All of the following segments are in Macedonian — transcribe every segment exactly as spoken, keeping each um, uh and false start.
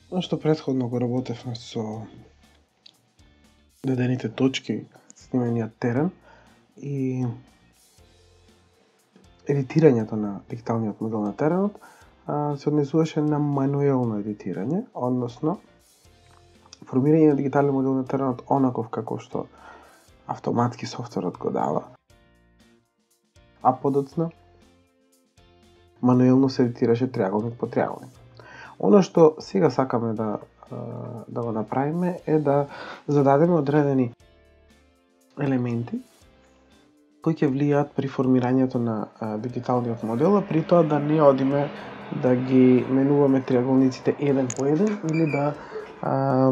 Што претходно го работевме со дадените точки со имениот терен и едитирањето на дигиталниот модел на теренот се однесуваше на мануелно едитирање, односно формирање на дигитален модел на теренот онаков како што автоматски софтверот го дава, а подоцна мануелно се едитираше триаголник по триаголник. Оно што сега сакаме да да го направиме е да зададеме одредени елементи кои ќе влијаат при формирањето на а, дигиталниот модел, а при тоа да не одиме да ги менуваме триаголниците еден по еден или да а,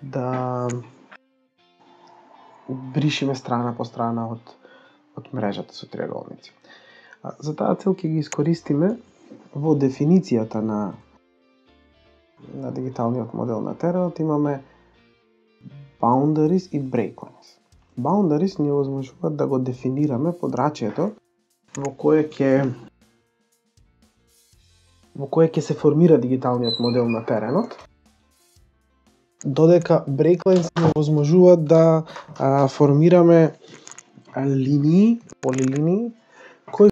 да бришиме страна по страна од од мрежата со триаголници. А, за таа цел ќе ги искористиме во дефиницијата на на дигиталниот модел на теренот имаме boundaries и breaklines. Boundaries ни овозможуваат да го дефинираме подрачјето во кое ќе во кое ќе се формира дигиталниот модел на теренот, додека breaklines ни овозможуваат да а, формираме а, линии, полилинии кои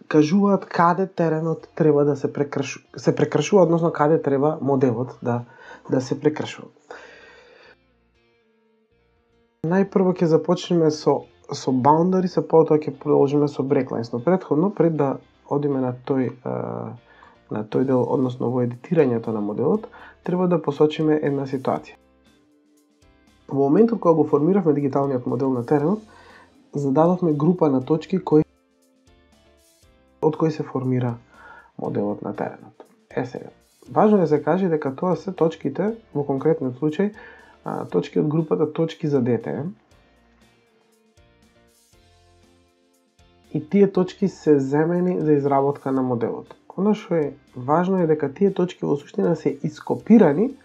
кажуваат каде теренот треба да се прекршува, се прекршува, односно каде треба моделот да да се прекршува. Најпрво ќе започнеме со со boundaries, а потоа ќе продолжиме со breaklines, но претходно пред да одиме на тој а, на тој дел, односно во едитирањето на моделот, треба да посочиме една ситуација. Во моментот кога го формиравме дигиталниот модел на теренот, зададовме група на точки кои од кои се формира моделот на теренот. Е сега, важно е да се каже дека тоа се точките, во конкретниот случај, а, точки од групата точки за ди ти ем. И тие точки се земени за изработка на моделот. Оно што е важно е дека тие точки во суштина се ископирани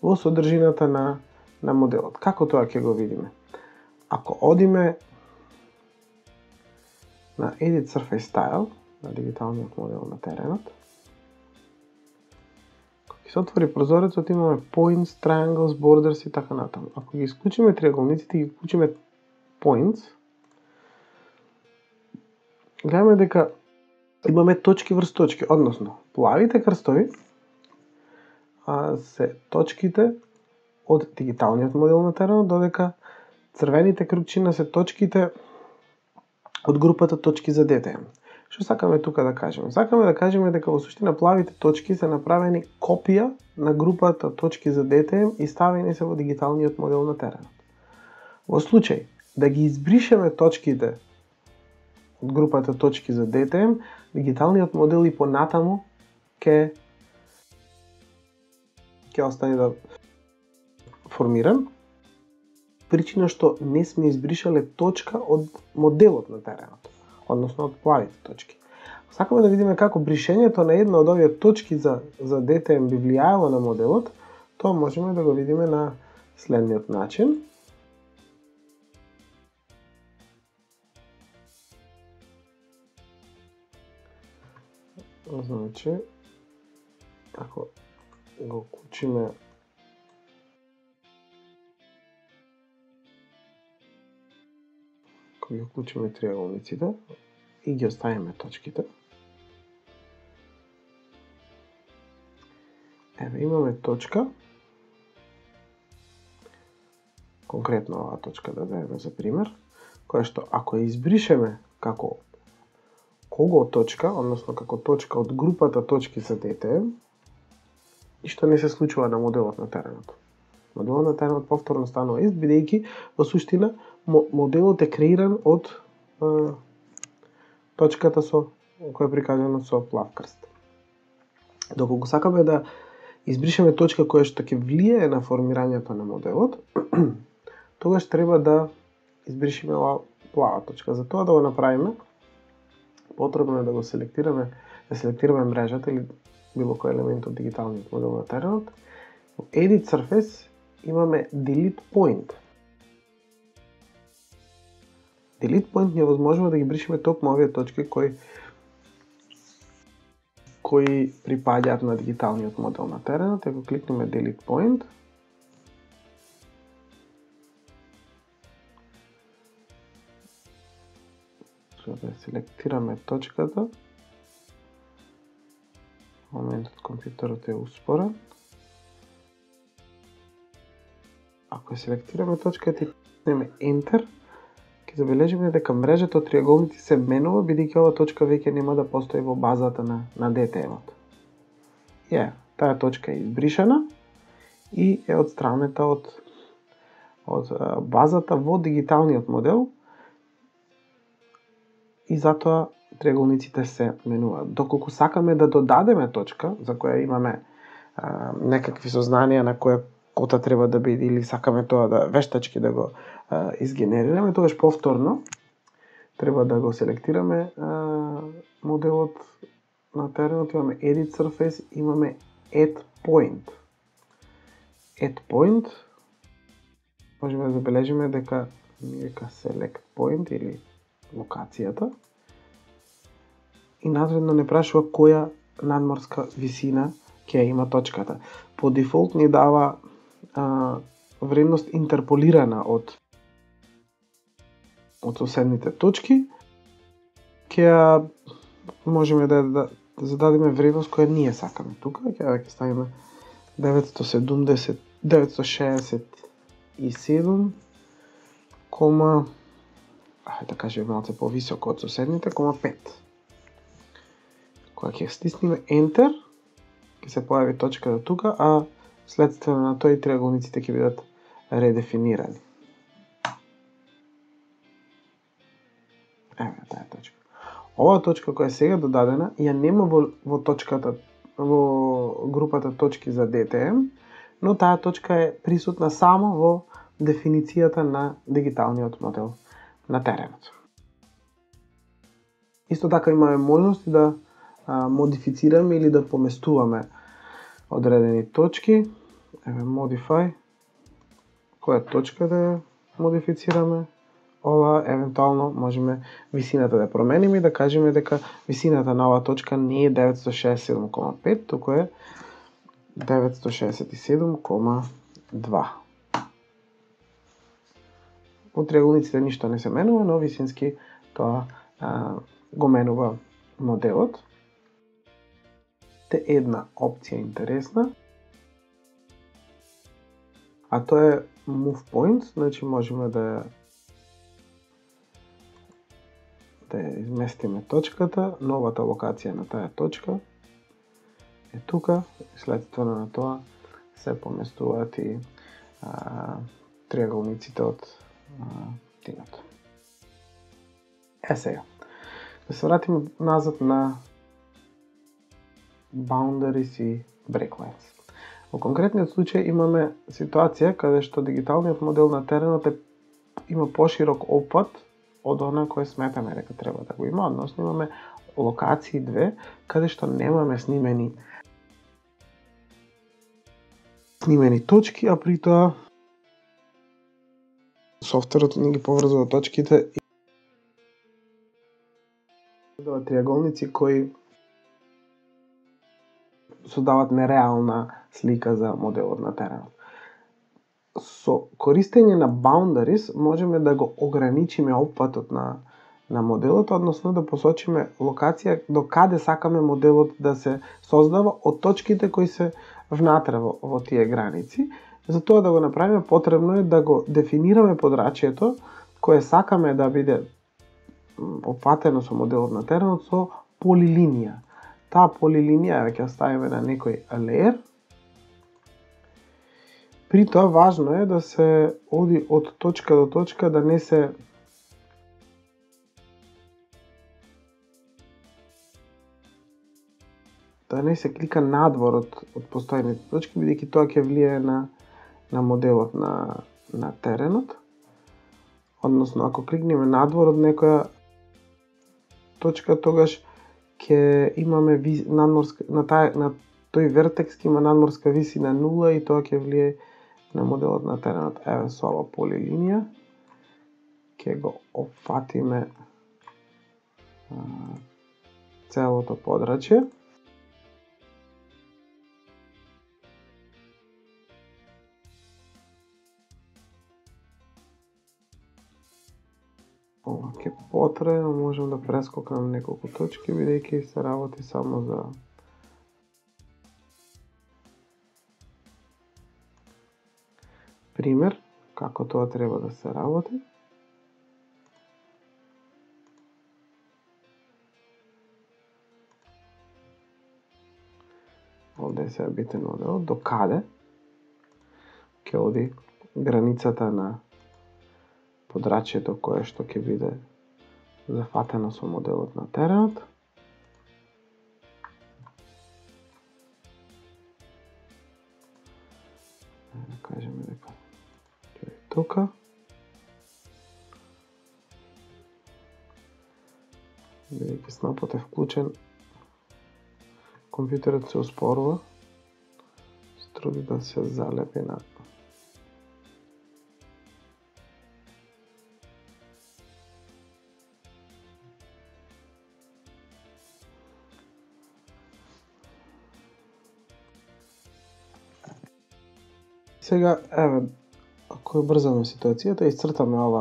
во содржината на на моделот. Како тоа ќе го видиме? Ако одиме на Edit Surface Style, на дигиталниот модел на теренот, кога ќе се отвори прозорецот, имаме Points, Triangles, Borders и така натаму. Ако ги исклучиме триаголниците и ги исклучиме Points, гледаме дека имаме точки врз точки, односно плавите крстови а, се точките од дигиталниот модел на теренот, додека црвените крупчина се точките од групата точки за ди ти ем. Што сакаме тука да кажеме? Сакаме да кажеме дека во суштина плавите точки се направени копија на групата точки за ди ти ем и ставени се во дигиталниот модел на теренот. Во случај да ги избришеме точките од групата точки за ди ти ем, дигиталниот модел и понатаму ќе ќе остане да формиран, причина што не сме избришале точка од моделот на теренот, односно од плавите точки. Сакаме да видиме како бришењето на една од овие точки за за ди ти ем би влијаело на моделот, тоа можеме да го видиме на следниот начин. Значи, ако го вклучиме ако ги вклучиме триаголниците и ги оставиме точките, еве имаме точка, конкретно оваа точка да земеме за пример, која што ако ја избришеме како кого точка, односно како точка од групата точки за ди ти ем, ништо не се случува на моделот на теренот. Моделот на теренот повторно станува ист, бидејќи во суштина моделот е креиран од а, точката со која е прикажана со плав крст. Доколку сакаме да избришеме точка која што ќе влијае на формирањето на моделот, тогаш треба да избришиме оваа плава точка. За тоа да го направиме, потребно е да го селектираме, да селектираме мрежата или било кој елемент од дигиталниот модел на теренот. Во Edit Surface имаме Delete Point. Delete Point ни овозможува да ги бришиме токму овие точки кои кои припаѓаат на дигиталниот модел на теренот. Ако кликнеме Delete Point, да селектираме точката. Моментот компјутерот е успорен. Ако ја селектираме точката и кликнеме Enter, ќе забележиме дека мрежата од триаголници се менува, бидејќи ова точка веќе нема да постои во базата на, на ди ти ем-от. Ја, таа точка е избришана и е отстранета од, од базата во дигиталниот модел и затоа триаголниците се менуваат. Доколку сакаме да додадеме точка, за која имаме а, некакви сознанија на која кота треба да биде или сакаме тоа да вештачки да го а, изгенерираме, тогаш повторно треба да го селектираме а, моделот на теренот, имаме Edit Surface, имаме Add Point. Add Point, можеме да забележиме дека вика Select Point или локацијата и надредно не прашува која надморска висина ќе има точката. По дефолт ни дава а, вредност интерполирана од од соседните точки. Ќе можеме да, да, да зададеме вредност која ние сакаме. Тука ќе ќе ставиме деветстотини и седумдесет деветстотини и шеесет и седум, кома ајде да кажеме малце повисоко од соседните, кома пет. Кога ќе стиснеме Enter, ќе се појави точката тука, а следствено на тоа и триаголниците ќе бидат редефинирани. Еве таа точка. Оваа точка која е сега додадена ја нема во, во точката во групата точки за ди ти ем, но таа точка е присутна само во дефиницијата на дигиталниот модел на теренот. Исто така имаме можности да а, модифицираме или да поместуваме одредени точки. Еве Modify, која точка да ја модифицираме. Ова евентуално можеме висината да промениме и да кажеме дека висината на оваа точка не е деветстотини шеесет и седум кома пет, туку е деветстотини шеесет и седум кома два. Во триаголниците ништо не се менува, но висински тоа а, го менува моделот. Те една опција интересна, а тоа е Move Points, значи можеме да да изместиме точката, новата локација на таа точка е тука, следствено на тоа се поместуваат и а, триаголниците од тимот. Е сега, да се вратиме назад на boundaries и breaklines. Во конкретниот случај имаме ситуација каде што дигиталниот модел на теренот е, има поширок опфат од она кој сметаме дека треба да го има, односно имаме локации две каде што немаме снимени снимени точки, а при тоа софтверот ни ги поврзува точките и дава триаголници кои создаваат нереална слика за моделот на теренот. Со користење на boundaries можеме да го ограничиме опфатот на на моделот, односно да посочиме локација до каде сакаме моделот да се создава од точките кои се внатре во, во тие граници. За тоа да го направиме потребно е да го дефинираме подрачјето кое сакаме да биде опфатено со моделот на теренот со полилинија. Таа полилинија ќе ставиме на некој layer. При тоа важно е да се оди од точка до точка, да не се да не се клика надвор од, од постојните точки, бидејќи тоа ќе влијае на на моделот на на теренот. Односно, ако кликнеме надвор од некоја точка, тогаш ќе имаме ви, надморска на тај на тој вертекс ќе има надморска висина нула и тоа ќе влијае на моделот на теренот. Еве со ова полилинија ќе го опфатиме а, целото подрачје. ке потрае, но можам да прескокнам неколку точки, бидејќи се работи само за пример како тоа треба да се работи. Овде се битен моделот, до каде ќе оди границата на подрачјето кое што ќе биде зафатено со моделот на теренот. Да кажеме дека ќе е тука. Бидејќи снапот е вклучен, компјутерот се успорува, се труди да се залепи на Сега, еве, ако ја брзаме ситуацијата, исцртаме ова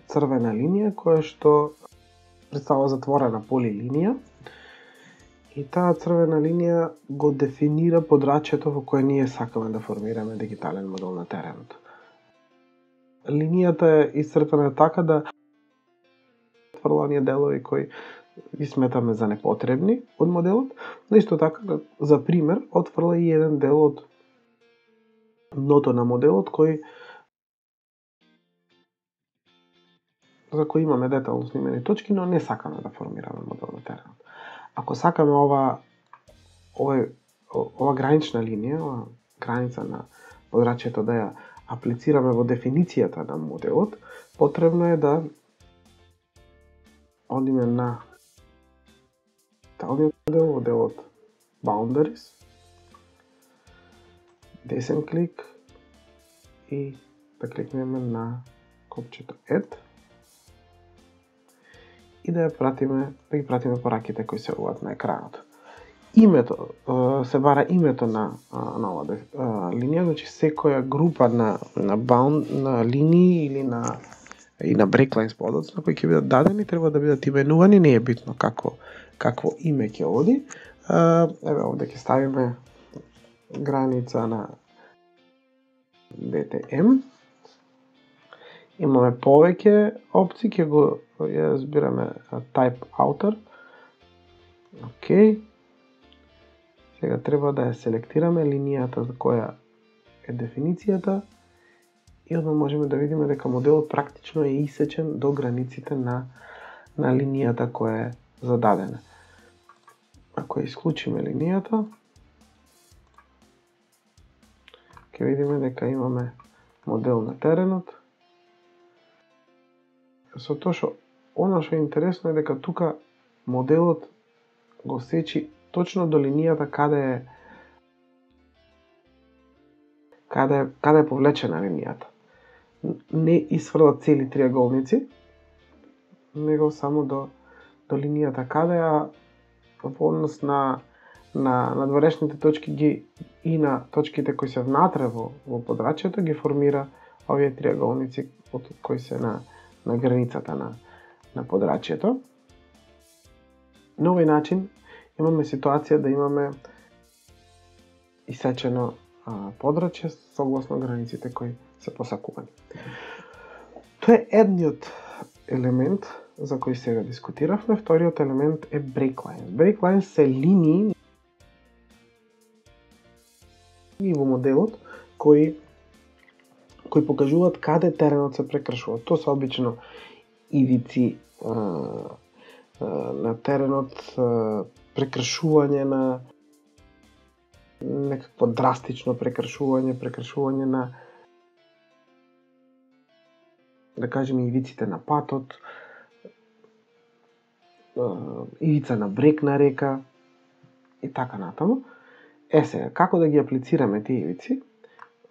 црвена линија која што представува затворена полилинија. И таа црвена линија го дефинира подрачјето во кое ние сакаме да формираме дигитален модел на теренот. Линијата е исцртана така да отфрла оние делови кои ги сметаме за непотребни од моделот, но исто така, за пример, отфрла и еден дел од дното на моделот кој за кој имаме детално снимени точки, но не сакаме да формираме модел на теренот. Ако сакаме ова ова, ова гранична линија, ова граница на подрачјето да ја аплицираме во дефиницијата на моделот, потребно е да одиме на талниот модел во делот Boundaries, десен клик и да кликнеме на копчето Add и да ја пратиме, да ги пратиме пораките кои се уват на екранот. Името, се бара името на, на оваа линија, значи секоја група на на bound на линии или на и на breaklines подоцна кои ќе бидат дадени треба да бидат именувани, не е битно какво какво име ќе оди. Еве овде ќе ставиме граница на би ти ем. Имаме повеќе опции, ќе го ја збираме type outer. Океј. Сега треба да ја селектираме линијата за која е дефиницијата и одма можеме да видиме дека моделот практично е исечен до границите на на линијата која е зададена. Ако ја исклучиме линијата, ќе видиме дека имаме модел на теренот. Со тоа што она што е интересно е дека тука моделот го сечи точно до линијата каде е каде каде е повлечена линијата. Не исфрла цели триаголници, него само до до линијата каде, а во однос на на надворешните точки ги и на точките кои се внатре во во подрачјето ги формира овие триаголници од кои се на на границата на на подрачјето. На овој начин имаме ситуација да имаме исечено а, подрачје согласно границите кои се посакувани. Тоа е едниот елемент за кој сега дискутиравме. Вториот елемент е breaklines. Breaklines се линии во моделот кои кои покажуваат каде теренот се прекршува. Тоа се обично ивици а, а, на теренот, а, прекршување на некакво драстично прекршување, прекршување на, да кажеме, ивиците на патот, ивица на брег на река и така натаму. Е сега, како да ги аплицираме тие ивици?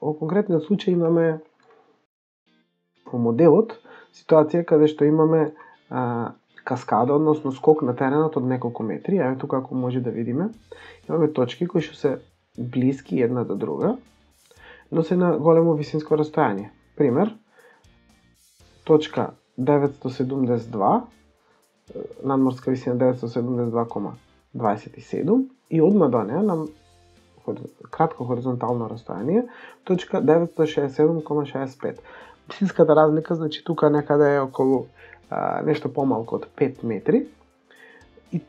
Во конкретниот случај имаме во моделот ситуација каде што имаме а, каскада, односно скок на теренот од неколку метри. Еве тука ако може да видиме, имаме точки кои што се блиски една до друга, но се на големо висинско растојание. Пример, точка деветстотини седумдесет и два, надморска висина деветстотини седумдесет и два кома дваесет и седум и одма до неа на кратко хоризонтално растојание, точка деветстотини шеесет и седум кома шеесет и пет. Висинската разлика, значи тука некаде е околу а, нешто помалку од пет метри. И,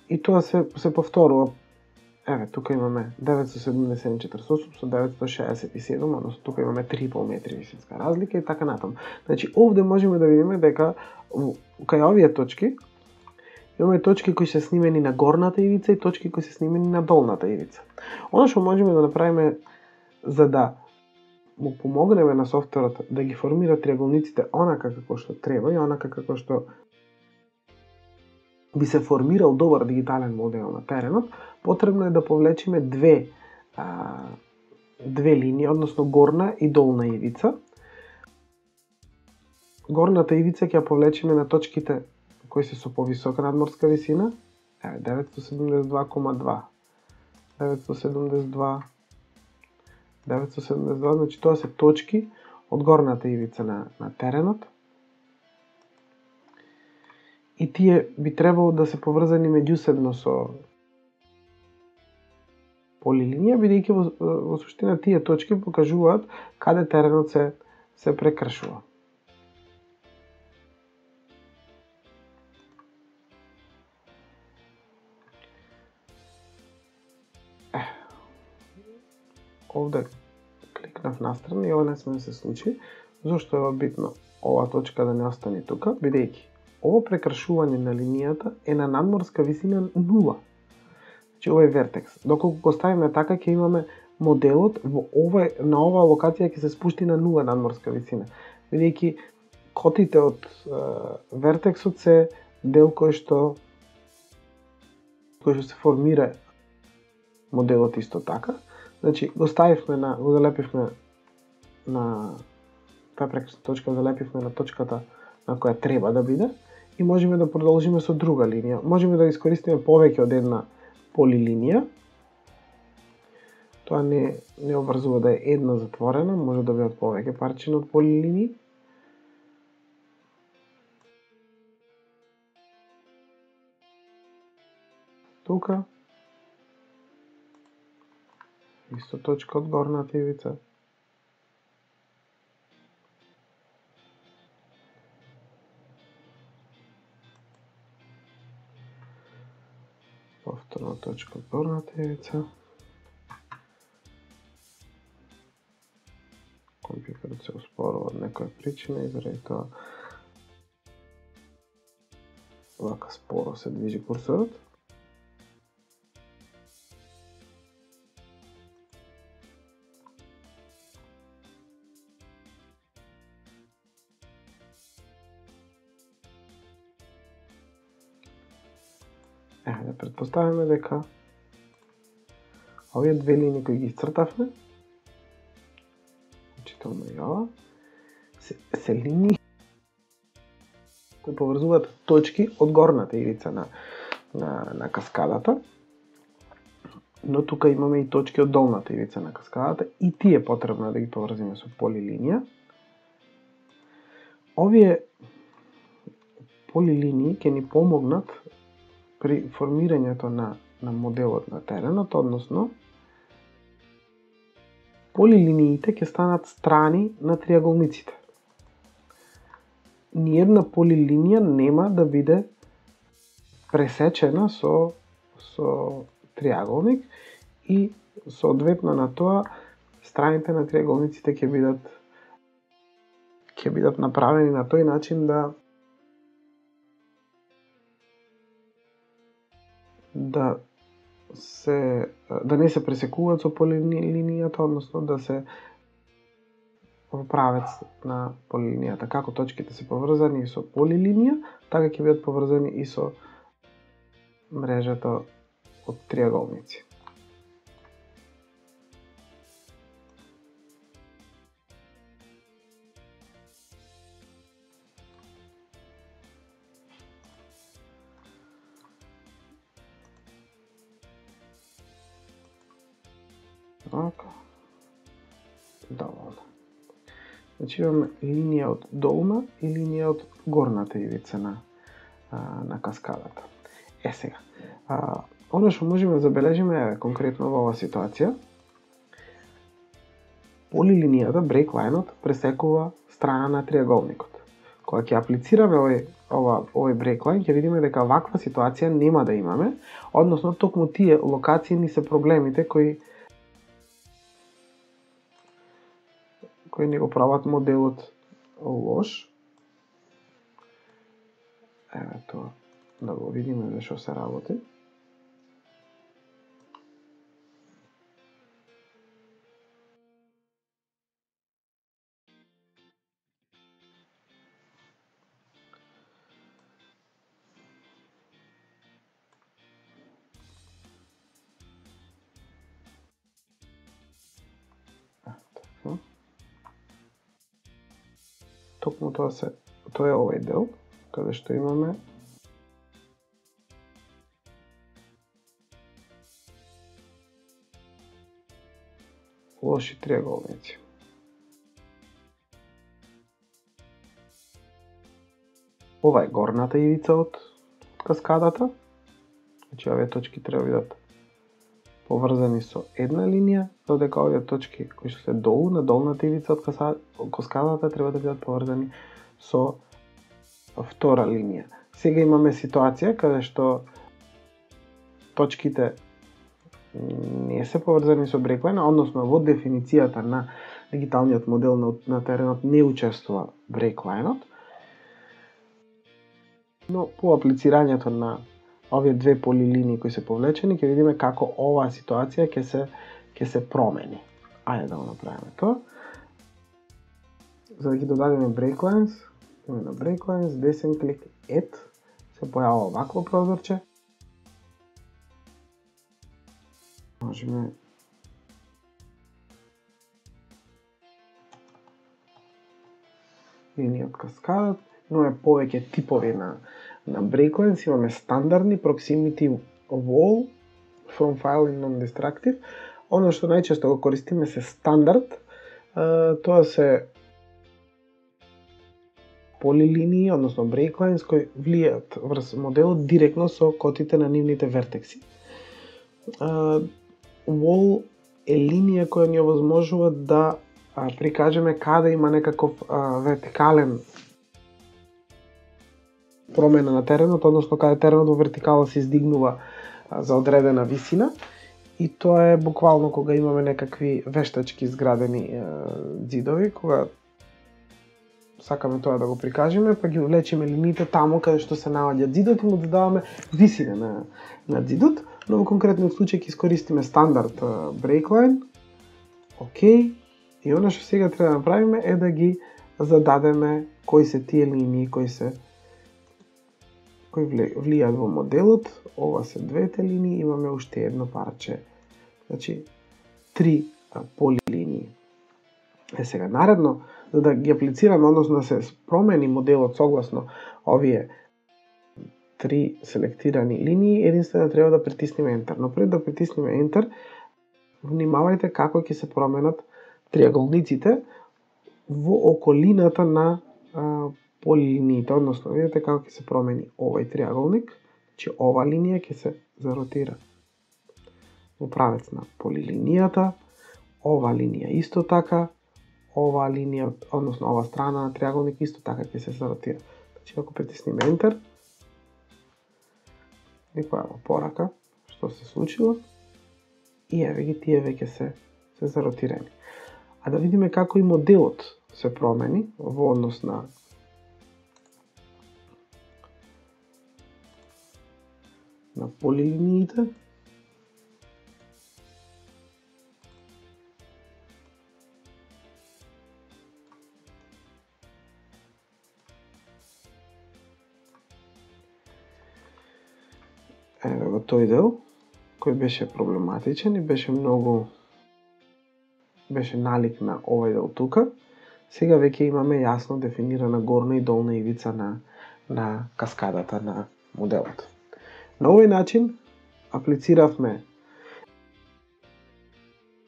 и тоа се, се повторува. Еве, тука имаме деветстотини седумдесет и четири со деветстотини шеесет и седум, односно тука имаме три и пол метри висинска разлика и така натаму. Значи, овде можеме да видиме дека кај овие точки имаме точки кои се снимени на горната ивица и точки кои се снимени на долната ивица. Оно што можеме да направиме за да му помогнеме на софтверот да ги формира триаголниците онака како што треба и онака како што би се формирал добар дигитален модел на теренот, потребно е да повлечиме две а, две линии, односно горна и долна ивица. Горната ивица ќе ја повлечиме на точките кои се со повисока надморска висина, еве деветстотини седумдесет и два кома два, деветстотини седумдесет и два, деветстотини седумдесет и два, значи тоа се точки од горната ивица на, на теренот. И тие би требало да се поврзани меѓусебно со полилинија, бидејќи во, во суштина тие точки покажуваат каде теренот се, се прекршува. Е, овде кликнав настрана и ова не сме да се случи. Зошто е битно ова точка да не остане тука, бидејќи ово прекршување на линијата е на надморска висина нула. Значи ова е вертекс. Доколку го ставиме така, ќе имаме моделот во ова, на оваа локација ќе се спушти на нула надморска висина. Бидејќи котите од е, вертексот се дел кој што кој што се формира моделот исто така. Значи го ставивме на го залепивме на таа прекршна точка, залепивме на точката на која треба да биде и можеме да продолжиме со друга линија. Можеме да искористиме повеќе од една полилинија. Тоа не, не обврзува да е една затворена, може да бидат повеќе парчиња од полилинии. Тука исто точка од горната ивица. Повторна точка од горната ивица. Компјутерот се успорува од некоја причина и заради тоа вака споро се движи курсорот. Еве да предпоставиме дека овие две линии кои ги исцртавме, включително и ова, се, се линии кои поврзуваат точки од горната ивица на, на, на каскадата, но тука имаме и точки од долната ивица на каскадата и тие потребно да ги поврзиме со полилинија. Овие полилинии ќе ни помогнат при формирањето на, на моделот на теренот, односно полилиниите ќе станат страни на триаголниците. Ниедна полилинија нема да биде пресечена со, со триаголник и соодветно на тоа страните на триаголниците ќе бидат ќе бидат направени на тој начин да да се да не се пресекуваат со полилинијата, односно да се во правец на полилинијата. Како точките се поврзани со полилинија, така ќе бидат поврзани и со мрежата од триаголници. Така. Доволно. Значи имаме линија од долна и линија од горната ивица на, на каскадата. Е сега, а, оно што можеме да забележиме е конкретно во оваа ситуација, полилинијата, брейклајнот, пресекува страна на триаголникот. Кога ќе аплицираме овој, ова, овој брейклајн, ќе видиме дека ваква ситуација нема да имаме, односно токму тие локации ни се проблемите кои кои ни го прават моделот лош. Еве тоа, да го видиме за што се работи. Токму тоа се, тоа е овој дел, каде што имаме лоши триаголници. Ова е горната ивица од каскадата, значи овие точки треба да бидат поврзани со една линија, додека овие точки кои што се долу на долната ивица од каскадата треба да бидат поврзани со втора линија. Сега имаме ситуација каде што точките не се поврзани со брейклајн, односно во дефиницијата на дигиталниот модел на, на теренот не учествува брейклајнот, но по аплицирањето на овие две полилинии кои се повлечени, ќе видиме како оваа ситуација ќе се ќе се промени. Ајде да го направиме тоа. За да ги додадеме breaklines, имаме на breaklines, десен клик Add, се појавува вакво прозорче. Можеме линија од каскадат, имаме повеќе типови на на breaklines, имаме стандардни proximity wall, from file и non-destructive. Оно што најчесто го користиме се стандард, тоа се полилинии, односно breaklines кои влијаат врз моделот директно со котите на нивните вертекси. Wall е линија која ни овозможува да прикажеме каде има некаков вертикален промена на теренот, односно каде теренот во вертикала се издигнува за одредена висина, и тоа е буквално кога имаме некакви вештачки изградени ѕидови, кога сакаме тоа да го прикажеме, па ги влечеме линиите таму каде што се наоѓа ѕидот и му додаваме висина на, на ѕидот, но во конкретниот случај ќе искористиме стандард breakline. Океј, и она што сега треба да направиме е да ги зададеме кои се тие линии кои се кои влијаат во моделот. Ова се двете линии, имаме уште едно парче, значи три полилинии. Е сега наредно, за да ги аплицираме, односно да се промени моделот согласно овие три селектирани линии, единствено треба да притиснеме Enter. Но пред да притиснеме Enter, внимавајте како ќе се променат триаголниците во околината на а, полилиниите, односно видите како ќе се промени овој триаголник, че ова линија ќе се заротира во правец на полилинијата, ова линија исто така, ова линија, односно ова страна на триаголник исто така ќе се заротира. Значи ако притиснеме Enter, ни појава порака што се случило и еве ги тие веќе се се заротирани. А да видиме како и моделот се промени во однос на на полилиниите. Еве во тој дел, кој беше проблематичен и беше многу беше налик на овој дел тука, сега веќе имаме јасно дефинирана горна и долна ивица на, на каскадата на моделот. На овој начин аплициравме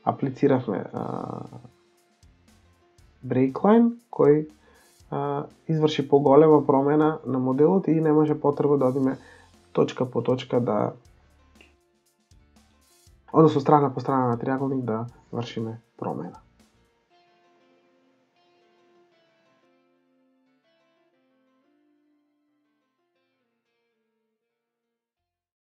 аплициравме а, breakline кој а, изврши поголема промена на моделот и не може потреба да одиме точка по точка да односно страна по страна на триаголник да вршиме промена.